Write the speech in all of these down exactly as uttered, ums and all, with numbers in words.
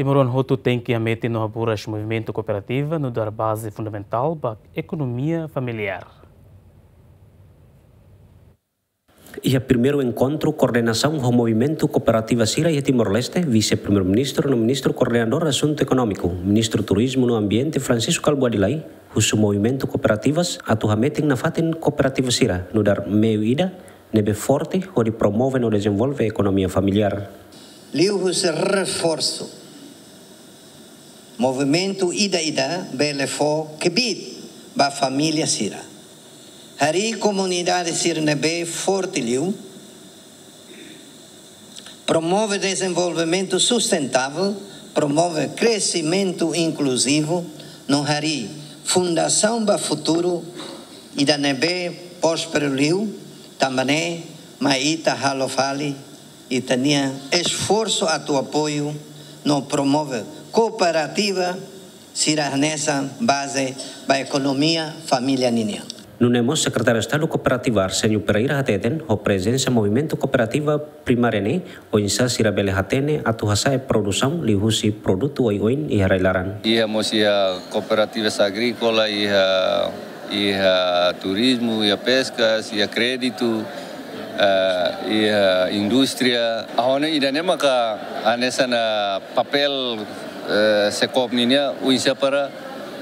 Timoroan hotu tenke hametin no haburas movimentu kooperativa nu'udar baze fundamentál ba ekonomia familiár. Iha primeiru enkontru koordenasaun ho movimentu kooperativa sira iha Timor-Leste, Vise-Primeiru-Ministru no Ministru Koordenadór Asuntu Ekonómiku, Ministru Turizmu no Ambiente Francisco Kalbuadi Lay, husu movimentu kooperativas atu hametin nafatin kooperativa sira nu'udar meiu ida ne'ebé forte hodi promove no dezenvolve ekonomia familiár. Liuhusi reforsu movimentu ida-idak bele fó kbiit ba família sira. Harii komunidade sira ne'ebé forte liu, promove dezenvolvimentu sustentável, promove kresimentu inkluzivu, no harii fundasaun ba futuru ida ne'ebé prósperu liu, tanba ne'e mak ita halo fali ita-nia esforsu atu apoiu no promove kooperativa sira hanesan baze ba ekonomia família ninian. Nune'e mós Sekretáriu Estadu Kooperativa Arsénio Pereira hateten, ho prezensa movimentu kooperativa primária ne'e, oinsá sira bele hatene atu hasa'e produsaun liuhusi produtu oioin iha rai-laran. Iha mós iha kooperativas agríkola, iha, iha turizmu, iha peskas, iha kréditu, eh, iha indústria. Ha'u hanoin ida-ne'e maka hanesan, eh, papél, eh, SEKOOP nian, oinsá para,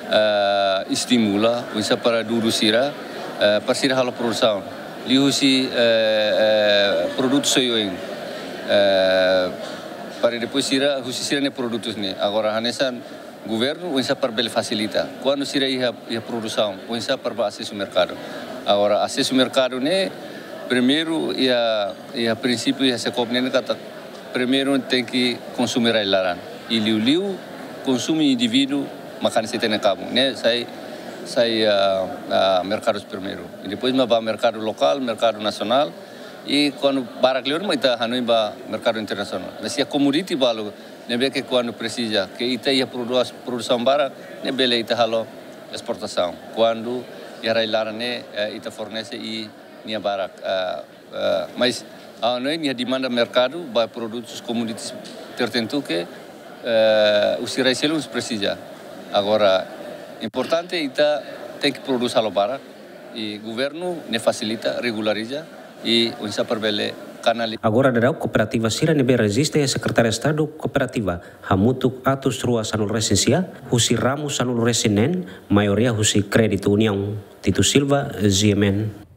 eh, estimula, oinsá para dudu sira, eh, para sira halo produsaun. Liuhusi, eh, eh, produtu oioin. Eh, para depois sira, husi sira-nia produtus ne'e. Agora, hanesan governu, oinsá para bele fasilita. Kuandu sira iha, iha produsaun, oinsá para bá asesu merkadu. Agora, asesu merkadu ne'e, primeiru, iha, iha prinsípiu, iha SEKOOP ne'e katak, primeiru tenke konsume rai-laran. I liuliu, konsume indivíduu, maka hanesan ita-nia kabun. Ne'e sai, sai, ah, ah, merkadus primeiru. I depois mak bá merkadu lokál, merkadu nasionál. I kuandu barak liu mak ita hanoin bá merkadu internasionál. Mas iha komoditi balu, ne'ebé ke kuandu presiza, ke ita iha produs-, produsaun barak, ne'e bele ita halo esportasaun. Kuandu iha rai-laran ne'e, eh, ita fornese i nia barak, eh, eh, mas, ah, no iha demanda merkadu ba produtus komoditis tertentu ke, eh, husi rai seluk presiza. Agora, importante ita tenke produs halo barak, i governu ne'e fasilita, regulariza, i oinsá para bele kanaliza. Agora daudaun kooperativa sira ne'ebé rejista iha Sekretáriu Estadu Kooperativa hamutuk atus rua sanulu resin sia, husi ramu sanulu resin neen, maioria husi kréditu Uniaun. Tito Silva, G M N.